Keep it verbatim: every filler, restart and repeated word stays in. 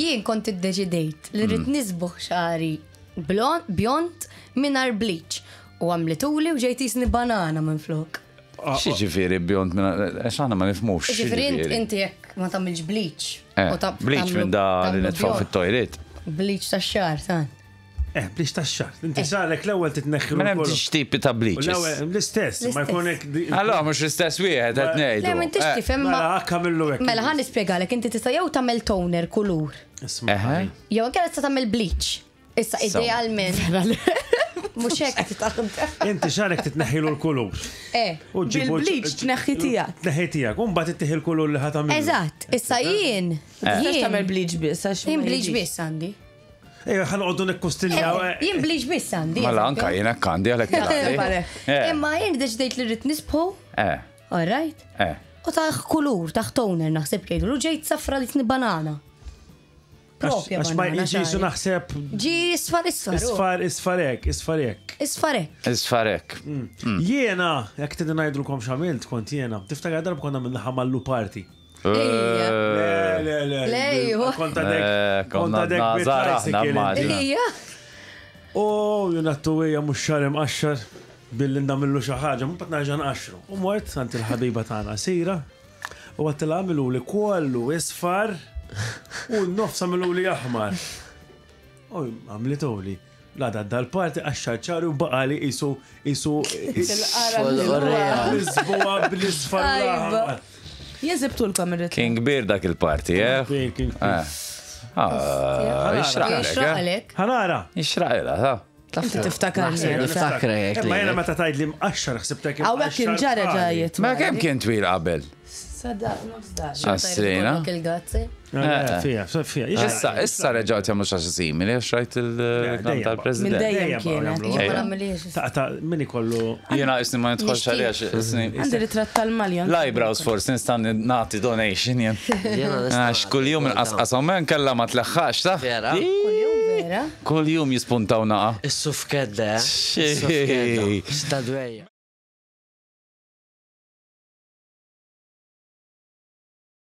Jien kont iddeċidejt li rrid nisbuħ xagħri blond, bjond mingħajr bleach. U għamlituli u ġejt jisni banana minn flok. X'jiġifieri bjond minn għax aħna ma nifhmux. Ġifieri int- x'jiġifieri. inti jekk ma tagħmilx bleach. Eh, u ta' Bleach tagħmlu- minn da li tagħmlu nitfgħu bjond. fit-toilet. Bleach ta' xagħar, tan. Eh, bleach ta' xagħar. Inti xagħrek l-ewwel titneħħi. Ma hemm tipi ta' bleaches. L-istess, ma L-istess. jkun hekk. Allora mhux l-istess wieħed qed ngħidu. Le, m'intix Eh, tifhem ma. Mela, akka millu hekk. Mela ħa nispjegalek, inti tista' jew tagħmel toner kulur. Isma' Eħe. Jew anke tista' tagħmel bleach. Issa So. idealment. Mhux hekk. Inti xagħrek titneħħilu l-kulur. Eh. U ġibu- Bil-bleach tneħħi tiegħek. Tneħħi tiegħek. U mbagħad ittieħi l-kulur li ħa tagħmel. Eżatt, issa jien. Tistax Jien. tagħmel bleach biss għax. Jien ma bleach jiġix. biss għandi. Ejja, ħa noqogħdu nikkostiljaw. Eh, Jien bleach biss għandi. Mela anka jien hekk għandi għalhekk Mela. Eh, Imma jien deċidejt li rrid nisbħu, Eh, all right? eh. U taħ kulur, taħ toner naħseb jgħidu, u ġejt safra li tni banana. Propja Għax ma banana. jiġi xagħri. naħseb Ġi isfar isfar. u. isfar isfarek, isfarek. Isfarek. Isfarek. Jiena, jekk tidin ngħidulkom x'għamilt kont jiena, tiftakar darba konna minna ħamallu party. Ejja. Le, le, le. Le, iwa. Kont għadek, Eh, kont konna għadek nazar aħna, bit-tricycle. immaġina. Ejja. U jonattu hija mhux xagħri mqaxxar billi ndamillu xi ħaġa, mbagħad nerġa' nqaxxru. U mort għand il-ħabiba tagħna Sira u għedtilha għamlu li kollu isfar u n-nofs għamlu li aħmar. U għamlitu li. La da dal-parti qaxxar xagħri u baqali isu isu Il-qara Lisboa bl-isfar u l-aħmar. Jien sibtulkom ir-ritratt. Kien kbir dak il-party, eh? Kien, kien, kien. Eh. Ah, Ixraqlek, eh? Jixraqlek. Ħa nara. Ixraqilha, ta' Inti tiftakarni. Niftakrek. Imma jena meta tgħid li mqaxxar ħsibtek Hawnhekk kien ġara ġajiet. Ma kemm kien twil qabel? Sada, nofs dar. Għastrina. Il-gazzi. Fija, fija. Issa, issa reġgħu jagħmlu xi ħaġa simili għax rajt il-reklam dejjem. tal-President. Minn dejjem kienet. Jien ma nagħmilhiex. Ta' ta' min ikollu. Jiena isni ma nidħolx għalija isni. Għandi ritratt tal-maljon. L-eyebrows forsi nista' nagħti donation jien. Għax kuljum inqasqashom men kella ma tleħħax, ta' Vera? Kuljum vera. Kuljum jispuntaw naqa. Is-sufkedda, eh? Xej. Is-sufkedda. Stadwejja.